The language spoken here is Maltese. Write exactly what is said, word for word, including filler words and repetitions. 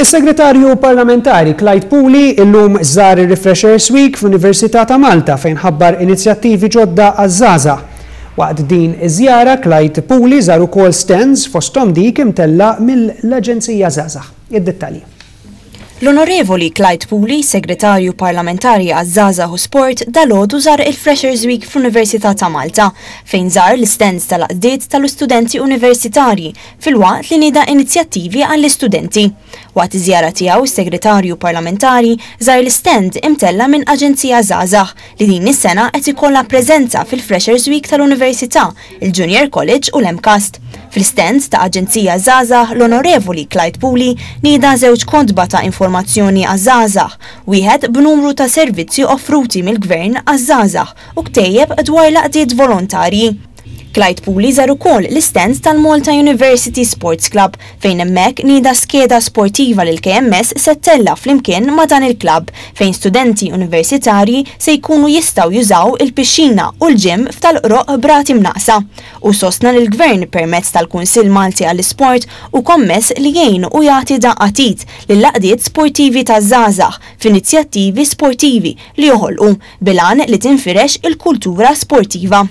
Is-Segretarju Parlamentari Clyde Puli illum żar il-Refreshers Week fl-Università ta' Malta, fejn ħabbar inizjattivi ġodda għaż-żgħażagħ. Waqt din iż-żjara, Clyde Puli żar ukoll stands, fosthom dik imtella' mill-Aġenzija Żgħażagħ. Id-dettalji. L-Onorevoli Clyde Puli, Segretarju Parlamentari għaż-Żgħażagħ u Sport, dalgħodu żar il-Freshers Week fl-Università ta' Malta, fejn żar l-stands tal-għaqdiet tal-istudenti universitarji filwaqt li nieda inizjattivi għall-istudenti. Waqt iż-żjara tiegħu, is-Segretarju Parlamentari żar l-stand imtella' minn Aġenzija Żgħażagħ, li din is-sena qed ikollha preżenza fil-Freshers Week tal-Università, il-Junior College u l-M CAST. Fil-stand ta' Aġenzija Żgħażagħ, l-Onorevoli Clyde Puli nieda żewġ kotba ta' informazzjoni għaż-żgħażagħ, wieħed b'numru ta' servizzi offruti mill-Gvern għaż-żgħażagħ u ktejjeb dwar l-għaqdiet volontarji. Clyde Puli żar ukoll l-stand tal-Malta University Sports Club, fejn hemmhekk nieda skeda sportiva li l-K M S se ttella' flimkien ma' dan il-klabb, fejn studenti universitarji se jkunu jistgħu jużaw il-pixxina u l-gym f'Tal-Qroqq b'rati mnaqqsa. U sostna li l-Gvern, permezz tal-Kunsill Malti għall-Isport, hu kommess li jgħin u jagħti daqqa t'id lill-għaqdiet sportivi taż-żgħażagħ f'inizjattivi sportivi li joħolqu bil-għan li tinfirex il-kultura sportiva.